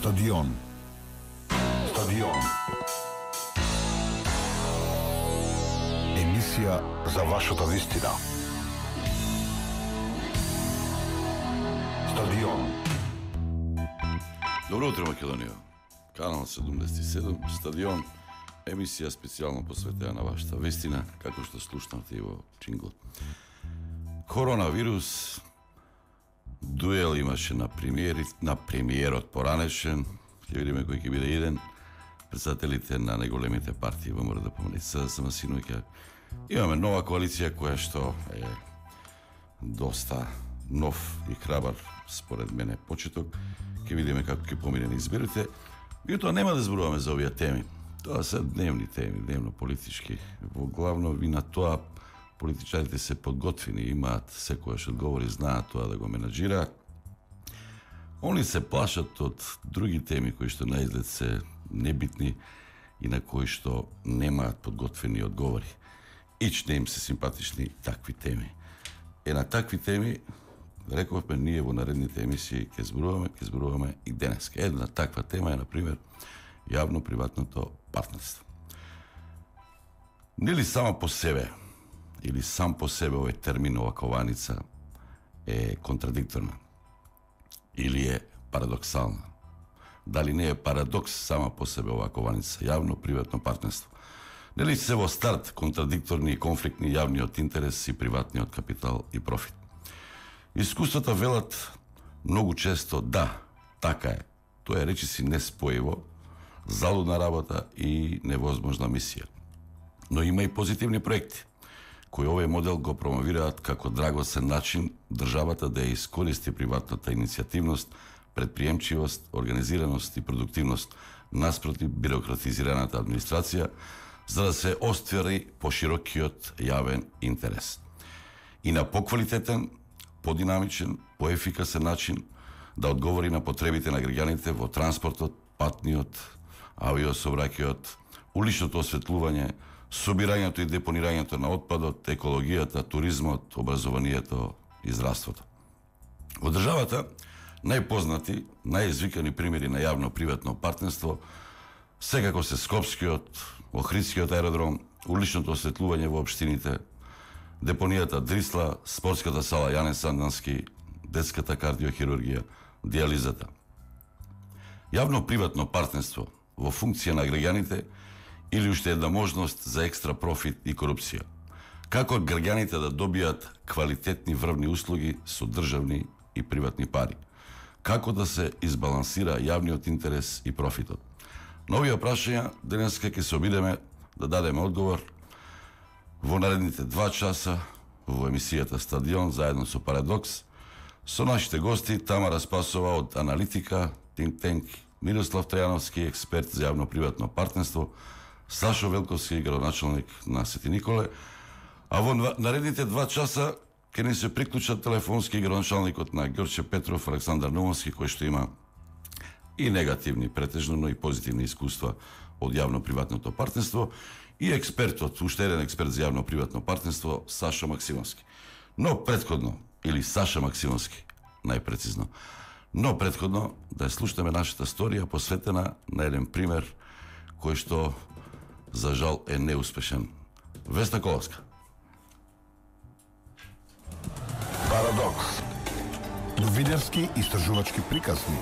Стадион. Стадион. Емисија за вашата вистина. Стадион. Добро утро, Македонија. Канал 77, Стадион, емисија специјално посветена на вашата вистина, како што слушнавте и во джингл. Коронавирус, дуел имаше на премиерот поранешен, ќе видиме кој ќе биде иден, председателите на најголемите партии во МРДПМН, СДСМ, синоќа. Имаме нова коалиција која што е доста нов и храбар, според мене, почеток. Ќе видиме како ќе помине на изборите. Меѓутоа нема да зборуваме за овие теми. Тоа се дневни теми, дневно политички. Во главно и на тоа политичарите се подготвени, имаат секојаш одговори, знаат тоа да го менаџираат. Они се плашат од други теми кои што наизглед се небитни и на кои што немаат подготвени одговори. Ич не им се симпатични такви теми. На такви теми, рековме, ние во наредните емисии ќе зборуваме и денес. Една таква тема е, например, јавно-приватното партнерство. Нели само по себе, или сам по себе овој термин, ова кованица е контрадикторна? Или е парадоксална? Дали не е парадокс сама по себе ова кованица, јавно-приватно партнерство? Нели се во старт контрадикторни и конфликтни јавниот интерес и приватниот капитал и профит? Искуствата велат многу често да, така е. Тоа е речиси неспоjivo, залудна работа и невозможна мисија. Но има и позитивни проекти, кои овој модел го промовираат како драгоцен начин државата да ја искористи приватната иницијативност, предприемчивост, организираност и продуктивност наспроти бирократизираната администрација, за да се оствари поширокиот јавен интерес. И на поквалитетен, подинамичен, поефикасен начин да одговори на потребите на граѓаните во транспортот, патниот, авиосообраќајот, уличното осветлување, собирањето и депонирањето на отпадот, екологијата, туризмот, образованието и здравството. Во државата најпознати, најизвикани примери на јавно-приватно партнерство секако се Скопскиот, Охридскиот аеродром, уличното осветлување во општините, депонијата Дрисла, спортската сала Јане Сандански, детската кардиохирургија, диализата. Јавно-приватно партнерство во функција на граѓаните или уште една можност за екстра профит и корупција. Како граѓаните да добијат квалитетни врвни услуги со државни и приватни пари? Како да се избалансира јавниот интерес и профитот? На овие прашања денеска ќе се обидеме да дадеме одговор во наредните 2 часа во емисијата Стадион заедно со Парадокс, со нашите гости Тамара Спасова од Аналитика, Think Tank, Мирослав Трајановски, експерт за јавно-приватно партнерство, Сашо Велковски, градоначалник на Свети Николе, а во наредните 2 часа ќе ни се приклучат телефонски градоначалникот на Ѓорче Петров, Александар Наумовски, кој што има и негативни претежно, но и позитивни искуства од јавно-приватното партнерство, и експертот, уште еден експерт за јавно-приватно партнерство, Сашо Максимовски. Но предходно, или Саша Максимовски, најпрецизно, но предходно да ја слушаме нашата сторија посветена на еден пример кој што, за жал, е неуспешен. Весна Коловска. Парадокс. Новинарски истражувачки приказни.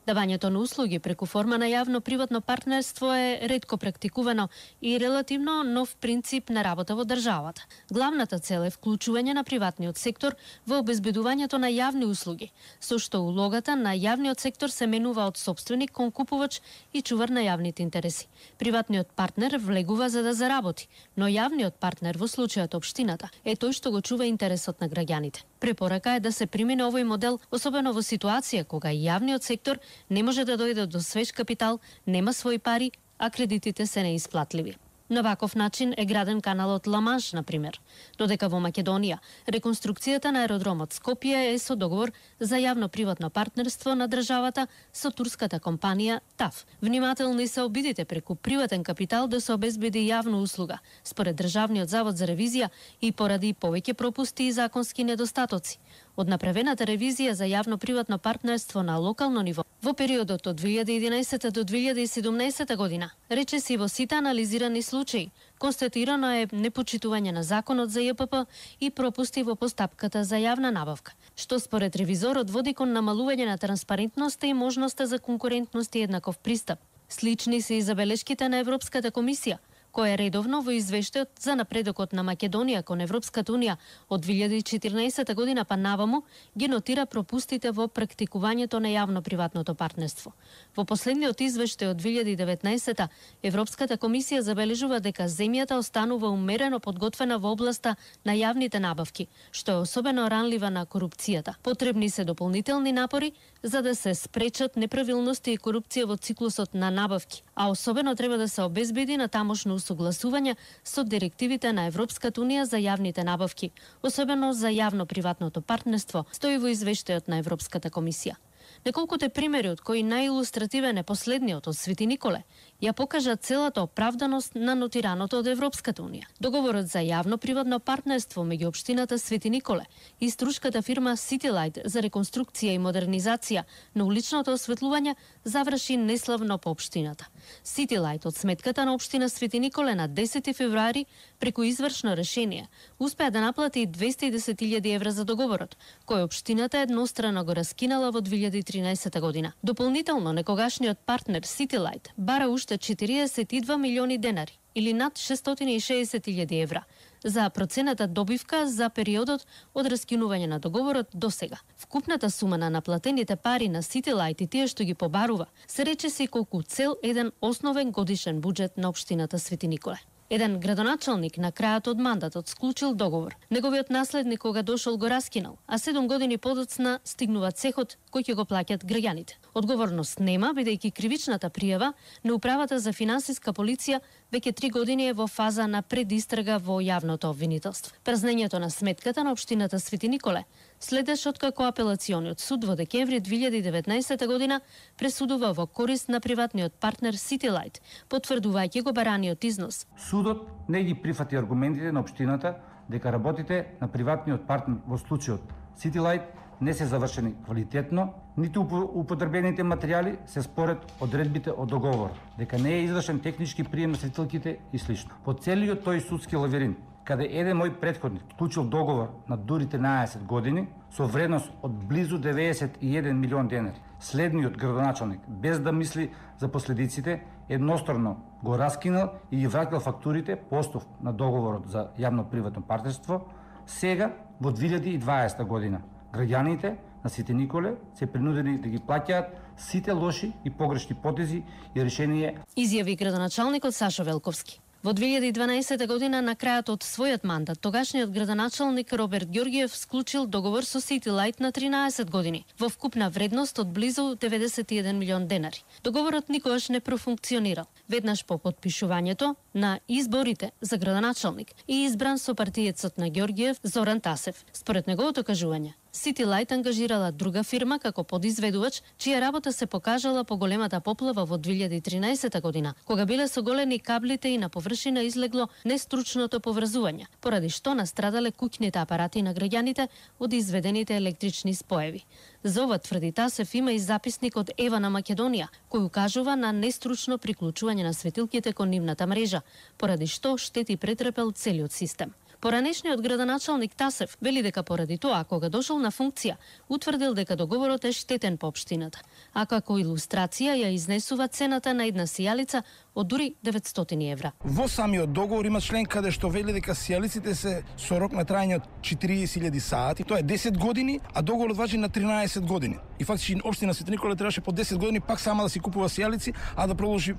Давањето на услуги преку форма на јавно-приватно партнерство е ретко практикувано и релативно нов принцип на работа во државата. Главната цел е вклучување на приватниот сектор во обезбедувањето на јавни услуги, со што улогата на јавниот сектор се менува од сопственик кон купувач и чувар на јавните интереси. Приватниот партнер влегува за да заработи, но јавниот партнер, во случајот општината, е тој што го чува интересот на граѓаните. Препорака е да се примине овој модел, особено во ситуација кога јавниот сектор не може да дојде до свеж капитал, нема своји пари, а кредитите се неисплатливи. На ваков начин е граден каналот Ла-Манш, например. Додека во Македонија, реконструкцијата на аеродромот Скопје е со договор за јавно-приватно партнерство на државата со турската компанија ТАФ. Внимателни се обидите преку приватен капитал да се обезбеди јавна услуга, според Државниот завод за ревизија и поради повеќе пропусти и законски недостатоци. Од направената ревизија за јавно-приватно партнерство на локално ниво во периодот од 2011 до 2017 година, речиси во сите анализирани случаи, констатирано е непочитување на законот за ЈПП и пропусти во постапката за јавна набавка, што според ревизорот води кон намалување на транспарентноста и можноста за конкурентност и еднаков пристап. Слични се и забелешките на Европската комисија, која редовно во извештајот за напредокот на Македонија кон Европската унија од 2014 година па наваму ги нотира пропустите во практикувањето на јавно-приватното партнерство. Во последниот извештај од 2019 Европската комисија забележува дека земјата останува умерено подготвена во областа на јавните набавки, што е особено ранлива на корупцијата. Потребни се дополнителни напори за да се спречат неправилности и корупција во циклусот на набавки, а особено треба да се обезбеди на тамошно усогласување со директивите на Европската унија за јавните набавки, особено за јавно-приватното партнерство, стои во извештајот на Европската комисија. Неколкото примери од кои најилустративен е последниот од Свети Николе, ја покажа целата оправданост на нотираното од Европската унија. Договорот за јавно-приватно партнерство меѓу општината Свети Николе и струшката фирма Citylight за реконструкција и модернизација на уличното осветлување заврши неславно по општината. Citylight од сметката на општина Свети Николе на 10 февруари преку извршно решение успеа да наплати 210.000 евра за договорот, кој општината еднострано го раскинала во 2013 година. Дополнително, некогашниот партнер Citylight бара уште 42 милиони денари или над 660.000 евра за процената добивка за периодот од раскинување на договорот до сега. Вкупната сума на наплатените пари на Citylight и тие што ги побарува се речиси колку цел еден основен годишен буџет на општината Свети Николе. Еден градоначалник на крајот од мандатот склучил договор. Неговиот наследник кога дошол го раскинал, а 7 години подоцна стигнува цехот кој ќе го плаќат граѓаните. Одговорност нема, бидејќи кривичната пријава на Управата за финансиска полиција веќе 3 години е во фаза на предистрага во јавното обвинителство. Празнењето на сметката на општината Свети Николе следеш откако апелациониот суд во декември 2019 година пресудува во корист на приватниот партнер Citylight, потврдувајќи го бараниот износ. Судот не ги прифати аргументите на општината дека работите на приватниот партнер во случајот Citylight не се завршени квалитетно, ниту употребените материјали се според одредбите од договор, дека не е извршен технички прием на светилките и слично. По целиот тој судски лавиринт, каде еден мој претходник вклучил договор на дури 13 години со вредност од близу 91 милион денари. Следниот градоначалник, без да мисли за последиците, едностранно го раскинал и ги враќал фактурите по основ на договорот за јавно-приватно партнерство, сега во 2020 година. Граѓаните на Свети Николе се принудени да ги плаќаат сите лоши и погрешни потези и решение. Изјави градоначалникот Сашо Велковски. Во 2012 година, на крајот од својот мандат, тогашниот градоначалник Роберт Ѓоргиев склучил договор со Citylight на 13 години, во вкупна вредност од близу 91 милион денари. Договорот никогаш не профункционирал. Веднаш по потпишувањето на изборите за градоначалник и избран со партиецот на Ѓоргиев Зоран Тасев. Според неговото кажување, Citylight ангажирала друга фирма како подизведувач, чија работа се покажала по големата поплава во 2013 година, кога биле соголени каблите и на површина излегло нестручното поврзување, поради што настрадале куќните апарати на граѓаните од изведените електрични споеви. За ова, тврди Тасев, има и записник од Ева на Македонија, кој укажува на нестручно приклучување на светилките кон нивната мрежа, поради што штети претрпел целиот систем. Поранешниот градоначалник Тасев вели дека поради тоа, кога дошол на функција, утврдил дека договорот е штетен по општината, а како илустрација ја изнесува цената на една сијалица од дури 900 евра. Во самиот договор има член каде што вели дека сијалиците се со рок на трајање од 40.000 сати. Тоа е 10 години, а договорот важи на 13 години. И фактички општина Свети Николе требаше по 10 години пак сама да си купува сијалици, а да продолжи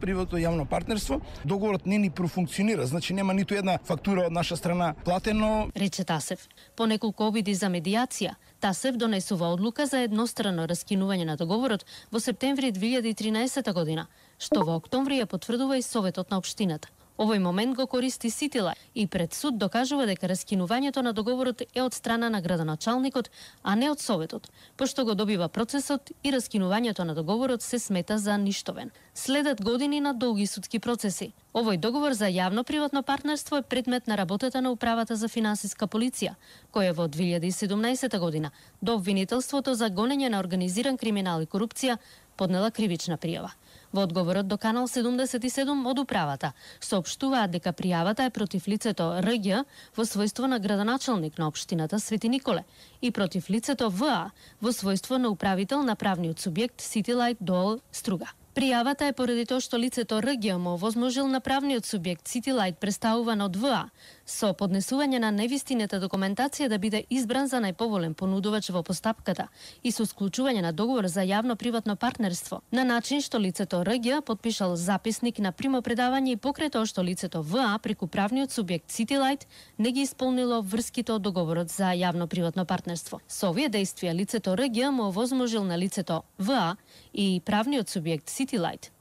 приватно јавно партнерство. Договорот не ни профункционира, значи нема ниту една фактура од наша страна платено. Рече Тасев. По неколку обиди за медијација, Тасев донесува одлука за еднострано раскинување на договорот во септември 2013 година, што во октомври ја потврдува и Советот на општината. Овој момент го користи Citylight и пред суд докажува дека раскинувањето на договорот е од страна на градоначалникот, а не од Советот, пошто го добива процесот и раскинувањето на договорот се смета за ништовен. Следат години на долги судски процеси, Овој договор за јавно-приватно партнерство е предмет на работата на Управата за финансиска полиција, која во 2017 година до обвинителството за гонење на организиран криминал и корупција поднела кривична пријава. Во одговорот до Канал 77 од Управата соопштуваат дека пријавата е против лицето РГ во својство на градоначалник на општината Свети Николе и против лицето ВА во својство на управител на правниот субјект Ситилайт ДОО Струга. Пријавата е поради тоа што лицето РГ му овозможил на правниот субјект Ситилайт представуван од ВА со поднесување на невистината документација да биде избран за најповолен понудувач во постапката и со склучување на договор за јавно-приватно партнерство, на начин што лицето РГ подпишал записник на примопредавање и покрај тоа што лицето ВА преку правниот субјект Ситилайт не ги исполнило врските од договорот за јавно-приватно партнерство. Со овие действија лицето РГ му овозможил на лицето ВА и правниот субјект Ситилайт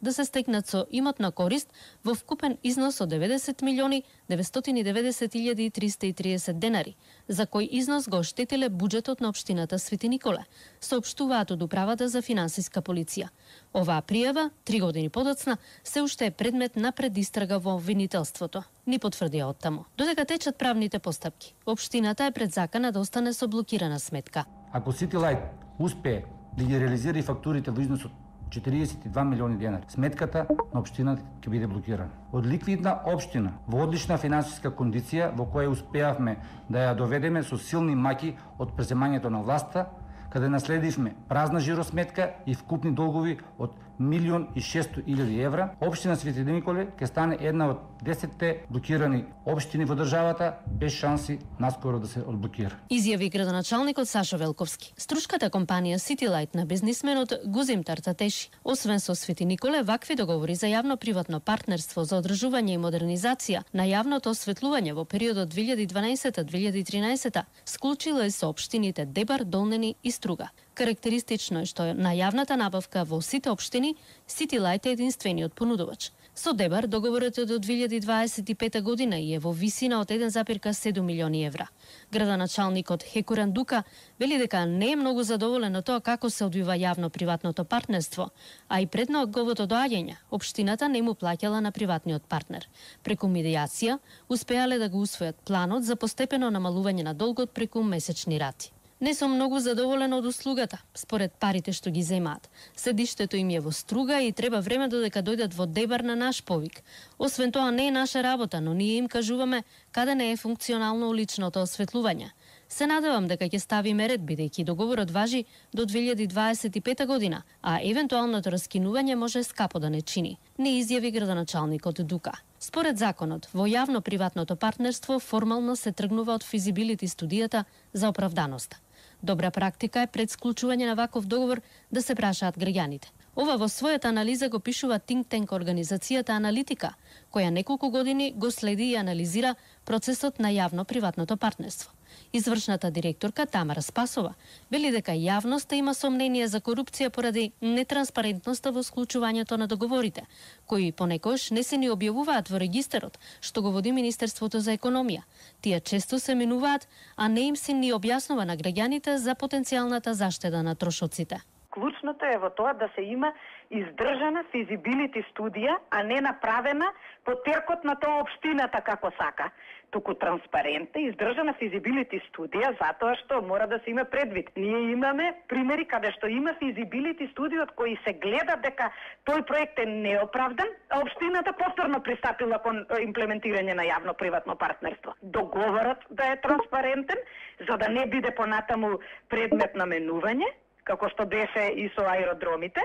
да се стекнат со имотна корист во вкупен износ од 90.990.330 денари, за кој износ го оштетиле буџетот на општината Свети Николе, соопштуваат од Управата за финансиска полиција. Оваа пријава, 3 години подоцна, се уште е предмет на предистрага во обвинителството, ни потврдија оттаму. Додека течат правните постапки, општината е пред закана да остане со блокирана сметка. Ако Ситилайт успее да ги реализира и фактурите во износ од 42 милиони денари, сметката на општината ќе биде блокирана. Од ликвидна општина во одлична финансиска кондиција во која успеавме да ја доведеме со силни маки од преземањето на власта, каде наследивме празна жиросметка и вкупни долгови од 1.600.000 евра, општина Свети Николе ќе стане една од 10 блокирани општини во државата без шанси наскоро да се одблокира. Изјави градоначалникот Сашо Велковски. Струшката компанија Ситилайт на бизнисменот Гузим Тартатеши. Освен со Свети Николе, вакви договори за јавно-приватно партнерство за одржување и модернизација на јавното осветлување во периодот 2012-2013 склучила и со општините Дебар, Долнени и Струга. Карактеристично е што на јавната набавка во сите општини Ситилайт е единствениот понудувач. Со Дебар договорот е до 2025 година и е во висина од 1,7 милиони евра. Градоначалникот Хекуран Дука вели дека не е многу задоволен од тоа како се одвива јавно-приватното партнерство, а и пред неговото доаѓање општината не му плаќала на приватниот партнер. Преку медијација успеале да го усвојат планот за постепено намалување на долгот преку месечни рати. Не сум многу задоволен од услугата, според парите што ги земаат. Седиштето им е во Струга и треба време додека дојдат во Дебар на наш повик. Освен тоа не е наша работа, но ние им кажуваме каде не е функционално уличното осветлување. Се надевам дека ќе ставиме ред, бидејќи договорот важи до 2025 година, а евентуалното раскинување може скапо да не чини, не изјави градоначалникот Дука. Според законот, во јавно-приватното партнерство формално се тргнува од физибилити студијата за оправданоста. Добра практика е пред склучување на ваков договор да се прашаат граѓаните. Ова во својата анализа го пишува think tank организацијата Аналитика, која неколку години го следи и анализира процесот на јавно-приватното партнерство. Извршната директорка Тамара Спасова вели дека јавноста има сомнение за корупција поради нетранспарентноста во склучувањето на договорите, кои понекогаш не се ни објавуваат во регистарот, што го води Министерството за економија. Тие често се минуваат, а не им се ни објаснува на граѓаните за потенцијалната заштеда на трошоците. Клучното е во тоа да се има издржана физибилити студија, а не направена по теркот на тоа општината како сака. Туку транспарентна, издржана физибилити студија, затоа што мора да се има предвид. Ние имаме примери каде што има физибилити студија од кои се гледа дека тој проект е неоправдан, а општината повторно пристапила кон имплементирање на јавно-приватно партнерство. Договорот да е транспарентен, за да не биде понатаму предмет на менување, како што беше и со аеродромите,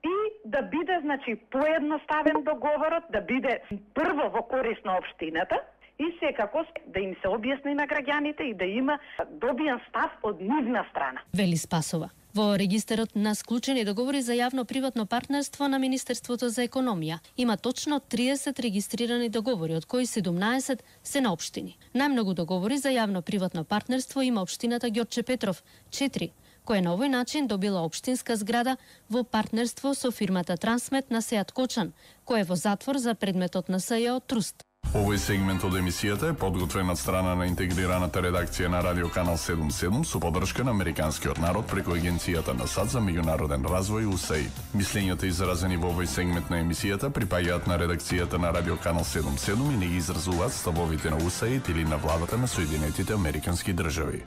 и да биде, значи, поедноставен договорот, да биде прво во корист на општината и секако да им се објасни на граѓаните и да има добиен став од нивна страна. Вели Спасова. Во регистарот на склучени договори за јавно-приватно партнерство на Министерството за економија има точно 30 регистрирани договори, од кои 17 се на општини. Најмногу договори за јавно-приватно партнерство има општината Ѓорче Петров, 4, која на овој начин добила општинска зграда во партнерство со фирмата Трансмет на Сеат Кочан, која е во затвор за предметот на СЈО Труст. Овој сегмент од емисијата е подготвен од страна на интегрираната редакција на Радио Канал 77 со поддршка на Американскиот народ преку Агенцијата на САД за меѓународен развој USAID. Мислењата изразени во овој сегмент на емисијата припаѓаат на редакцијата на Радио Канал 77 и не ги изразуваат ставовите на USAID или на владата на Соединетите Американски држави.